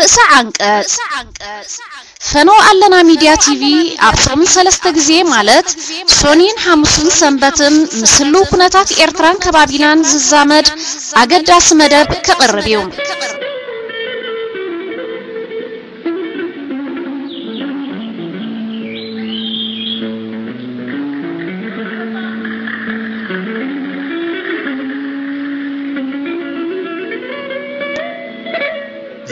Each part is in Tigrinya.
ርእሰ ዓንቀጽ። ፈነው ኣለና ሚድያ ቲቪ ኣብ ሰሙን ሰለስተ ግዜ ማለት ሶኒን ሓሙስን ሰንበትን ምስ ህልው ኩነታት ኤርትራን ከባቢናን ዝዛመድ ኣገዳሲ መደብ ከቕርብ እዩ።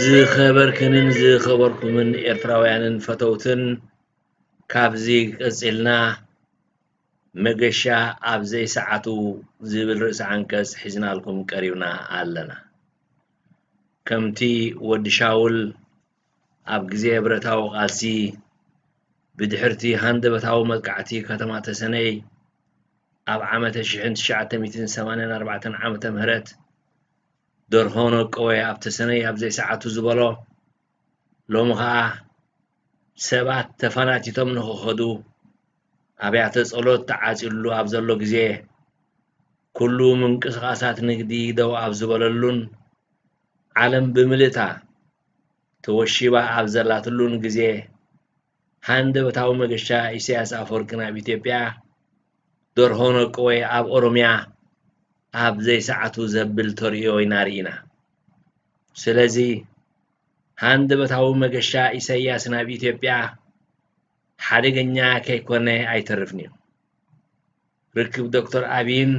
ዝኸበርክንን ዝኸበርኩምን ኤርትራውያንን ፈተውትን፣ ካብዚ ቀጺልና መገሻ ኣብ ዘይሰዓቱ ዝብል ርእሰ ዓንቀጽ ሒዝናልኩም ቀሪብና ኣለና። ከምቲ ወዲ ሻውል ኣብ ግዜ ብረታዊ ቃልሲ ብድሕርቲ ሃንደበታዊ መጥቃዕቲ ከተማ ተሰነይ ኣብ ዓመተ ሽሕን ትሽዓተ ሚእትን ሰማንያን ኣርባዕተን ዓመተ ምህረት ደርሆ ነቀወ ኣብ ተሰነይ ኣብ ዘይሰዓቱ ዝበሎ፣ ሎሚ ኸኣ ሰባት ተፈናቲቶም ንኽኸዱ ኣብያተ ጸሎት ተዓጽዩሉ ኣብ ዘሎ ግዜ፣ ኩሉ ምንቅስቓሳት ንግዲ ደው ኣብ ዝበለሉን ዓለም ብምልእታ ተወሺባ ኣብ ዘላትሉን ግዜ፣ ሃንደበታዊ መገሻ ኢሳያስ ኣፈወርቂ ናብ ኢትዮጵያ፣ ደርሆ ነቀወ ኣብ ኦሮምያ ኣብ ዘይሰዓቱ ዘብል ተርእዮ ኢና ርኢና። ስለዚ ሃንደበታዊ መገሻ ኢሳያስ ናብ ኢትዮጵያ ሓደገኛ ከይኮነ ኣይተርፍን እዩ። ርክብ ዶክተር ኣብይን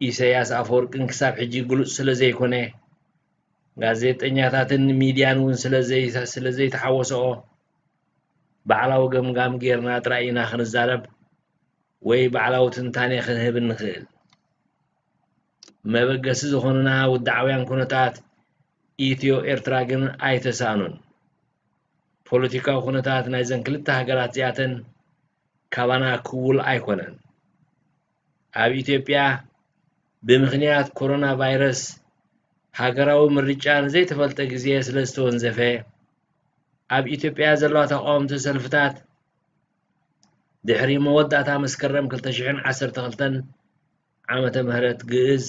ኢሳያስ ኣፈወርቅን ክሳብ ሕጂ ግሉጽ ስለ ዘይኮነ፣ ጋዜጠኛታትን ሚድያን እውን ስለ ዘይ-፣ ስለ ዘይተሓወስኦ፣ ባዕላዊ ገምጋም ጌርና ጥራይ ኢና ክንዛረብ ወይ ባዕላዊ ትንታኔ ክንህብ እንኽእል። መበገሲ ዝኾኑና ውድዓውያን ኩነታት ኢትዮ ኤርትራ ግን ኣይተሳእኑን። ፖለቲካዊ ኩነታት ናይዘን ክልተ ሃገራት እዚኣተን ካባና ክውል ኣይኮነን። ኣብ ኢትዮጵያ ብምኽንያት ኮሮና ቫይረስ ሃገራዊ ምርጫ ንዘይተፈልጠ ግዜ ስለ ዝተወንዘፈ፣ ኣብ ኢትዮጵያ ዘለዋ ተቃወምቲ ሰልፍታት ድሕሪ መወዳእታ መስከረም ክልተ ሽሕን ዓሰርተ ክልተን ዓመተ ምህረት ግእዝ፣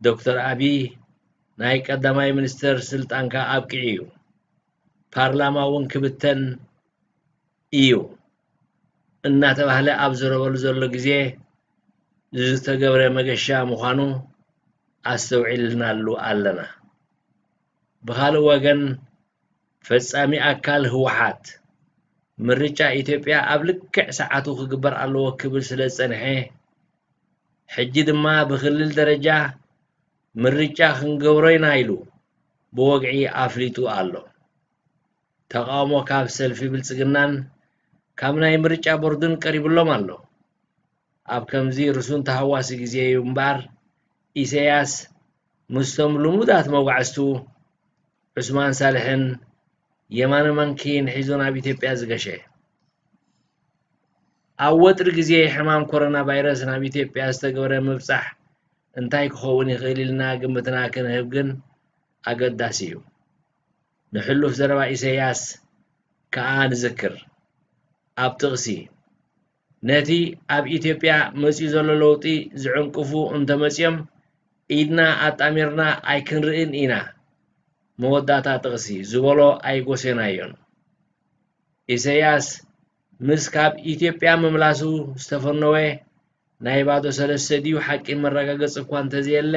ዶክተር ኣብይ ናይ ቀዳማይ ሚኒስተር ስልጣንካ ኣብቂዑ እዩ፣ ፓርላማ እውን ክብተን እዩ እናተባህለ ኣብ ዝረበሉ ዘሎ ግዜ ዝተገብረ መገሻ ምዃኑ ኣስተውዒልናሉ ኣለና። ብኻልእ ወገን፣ ፈጻሚ ኣካል ህወሓት፣ ምርጫ ኢትዮጵያ ኣብ ልክዕ ሰዓቱ ክግበር ኣለዎ ክብል ስለ ዝጸንሐ፣ ሕጂ ድማ ብክልል ደረጃ ምርጫ ክንገብሮ ኢና ኢሉ ብወግዒ ኣፍሊጡ ኣሎ። ተቃውሞ ካብ ሰልፊ ብልጽግናን ካብ ናይ ምርጫ ቦርድን ቀሪብሎም ኣሎ። ኣብ ከምዚ ርሱን ተሃዋሲ ግዜ እዩ እምበኣር፣ ኢሳያስ ምስቶም ልሙዳት መጓዕዝቱ ዑስማን ሳልሕን የማነ ማንኪን ሒዙ ናብ ኢትዮጵያ ዝገሸ። ኣብ ወጥሪ ግዜ ሕማም ኮሮና ቫይረስ ናብ ኢትዮጵያ ዝተገብረ ምብጻሕ እንታይ ክኸውን ይኽእል ኢልና ግምትና ክንህብ ግን ኣገዳሲ እዩ። ንሕሉፍ ዘረባ ኢሳያስ ከኣ ንዝክር። ኣብ ጥቕሲ፣ ነቲ ኣብ ኢትዮጵያ መጺኡ ዘሎ ለውጢ ዝዕንቅፉ እንተመጺኦም፣ ኢድና ኣጣሚርና ኣይክንርእን ኢና፣ መወዳእታ ጥቕሲ፣ ዝበሎ ኣይጎሴናዮን። ኢሳያስ ምስ ካብ ኢትዮጵያ ምምላሱ ዝተፈነወ ናይ ባዶ ሰለስተ ድዩ ሓቂ መረጋገጺ እኳ እንተዘየለ፣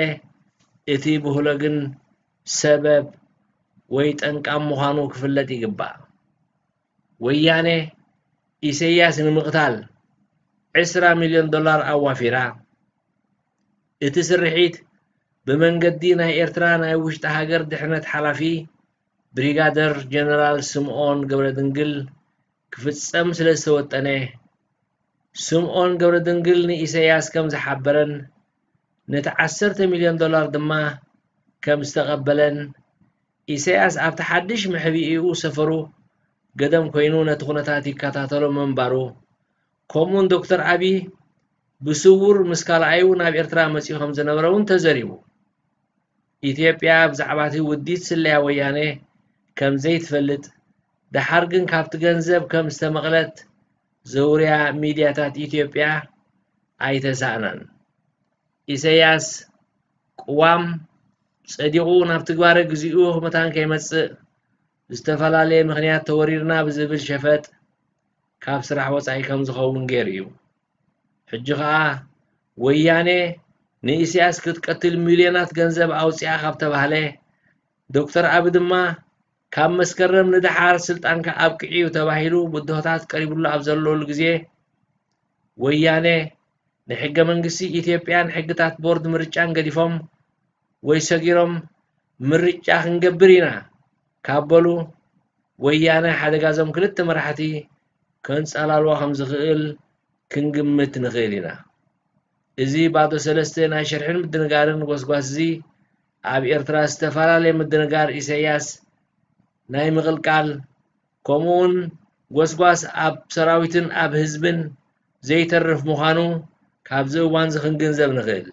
እቲ ብህሎ ግን ሰበብ ወይ ጠንቃም ምዃኑ ክፍለጥ ይግባእ። ወያነ ኢሳያስ ንምቕታል ዕስራ ሚልዮን ዶላር ኣዋፊራ። እቲ ስርሒት ብመንገዲ ናይ ኤርትራ ናይ ውሽጢ ሃገር ድሕነት ሓላፊ ብሪጋደር ጀነራል ስምኦን ገብረድንግል ክፍጸም ስለ ዝተወጠነ፣ ስምኦን ገብረድንግል ንኢሳያስ ከም ዝሓበረን ነቲ ዓሰርተ ሚልዮን ዶላር ድማ ከም ዝተቐበለን፣ ኢሳያስ ኣብቲ ሓድሽ መሕብኢኡ ሰፈሩ ገደም ኮይኑ ነቲ ኩነታት ይከታተሎ ምንባሩ፣ ከምኡውን ዶክተር ኣብይ ብስውር ምስ ካልኣዩ ናብ ኤርትራ መጺኡ ከም ዝነበረ እውን ተዘሪቡ። ኢትዮጵያ ብዛዕባ እቲ ውዲት ስለያ ወያነ ከም ዘይትፈልጥ፣ ደሓር ግን ካብቲ ገንዘብ ከም ዝተመቕለት ዘውርያ ሚድያታት ኢትዮጵያ ኣይተሳእናን። ኢሳያስ ቅዋም ጸዲቑ ናብ ትግባረ ግዚኡ መታን ከይመጽእ፣ ዝተፈላለየ ምኽንያት ተወሪርና ብዝብል ሸፈጥ ካብ ስራሕ ወጻኢ ከም ዝኸውን ገይሩ እዩ። ሕጂ ኸኣ ወያነ ንኢሳያስ ክትቀትል ሚልዮናት ገንዘብ ኣውጺኣ ካብ ተባህለ፣ ዶክተር ኣቢ ድማ ካብ መስከረም ንደሓር ስልጣንካ ኣብቅዕ እዩ ተባሂሉ ብድሆታት ቀሪቡሉ ኣብ ዘለሉ ግዜ፣ ወያነ ንሕገ መንግስቲ ኢትዮጵያን ሕግታት ቦርድ ምርጫን ገዲፎም ወይ ሰጊሮም ምርጫ ክንገብር ኢና ካብ በሉ፣ ወያነ ሓደጋዞም ክልተ መራሕቲ ከንጸላልዋ ከም ዝኽእል ክንግምት ንኽእል ኢና። እዚ ባዶ ሰለስተ ናይ ሽርሕን ምድንጋርን ጎስጓስ እዚ ኣብ ኤርትራ ዝተፈላለየ ምድንጋር ኢሳያስ ናይ ምቕልቃል፣ ከምኡውን ጎስጓስ ኣብ ሰራዊትን ኣብ ህዝብን ዘይተርፍ ምዃኑ ካብዚ እዋን እዚ ክንግንዘብ ንኽእል።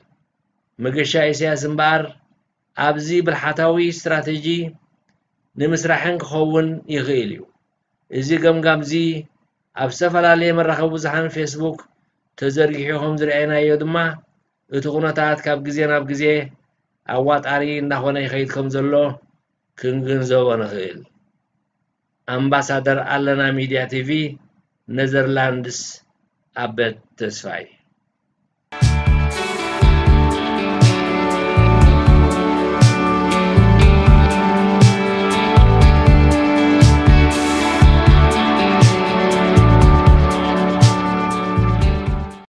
መገሻ ኢሳያስ እምበኣር ኣብዚ ብልሓታዊ ስትራተጂ ንምስራሕን ክኸውን ይኽእል እዩ። እዚ ገምጋም እዚ ኣብ ዝተፈላለየ መራኸቢ ብዙሓን ፌስቡክ ተዘርጊሑ ከም ዝረኣይናዮ ድማ፣ እቲ ኩነታት ካብ ግዜ ናብ ግዜ ኣዋጣሪ እናኾነ ይኸይድ ከም ዘሎ ክንግንዘቦ ንኽእል። ኣምባሳደር ኣለና ሚድያ ቲቪ፣ ኔዘርላንድስ፣ ኣበት ተስፋይ።